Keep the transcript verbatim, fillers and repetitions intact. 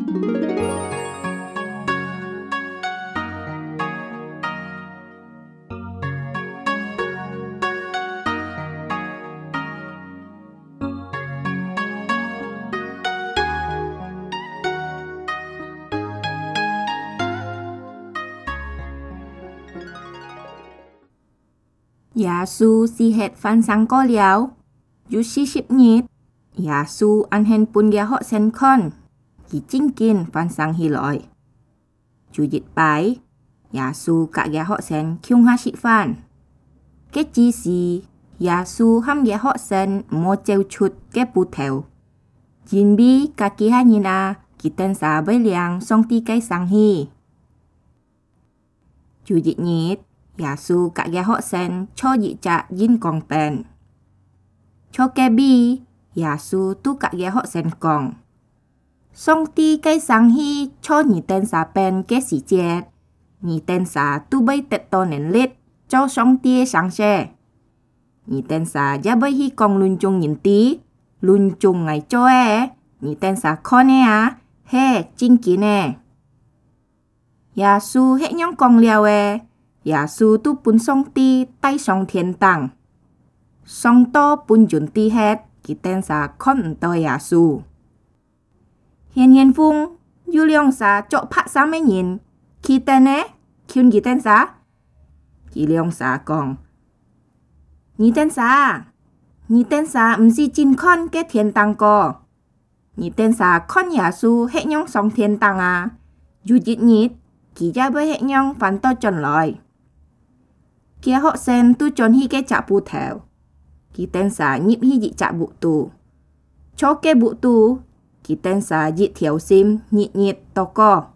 耶穌死忒還生過了，有四十日，耶穌恁形分厥學生看，佢正經還生起來。有一擺，耶穌佮厥學生共下食飯。該之時，耶穌喊厥學生毋好走出該步頭，因為該幾下人啊，佢等儕會領上帝个生氣。 有一日，耶穌佮厥學生坐一隻圓光粄。坐該位，耶穌就佮厥學生講：「上帝个生氣坐你等儕粄个時節，你等儕就會得到能力做上帝个牲畜。你等儕也會去講分眾人知，分眾𠊎做个，你等儕看个啊，係正經个。」 耶穌係仰講了个，耶穌就分上帝帶上天頂，上到分雲底忒，佢等儕看毋到耶穌。賢賢風，有兩儕著白衫个人，企等呢，求佢等儕。佢兩儕講：「你等儕，你等儕毋使淨看該天頂个， 你等儕看耶穌係仰上天頂啊，有一日，佢也會係仰翻倒轉來。」厥學生就轉去該隻步頭，佢等儕入去一隻屋肚。坐該屋肚，佢等儕一條心日日禱告。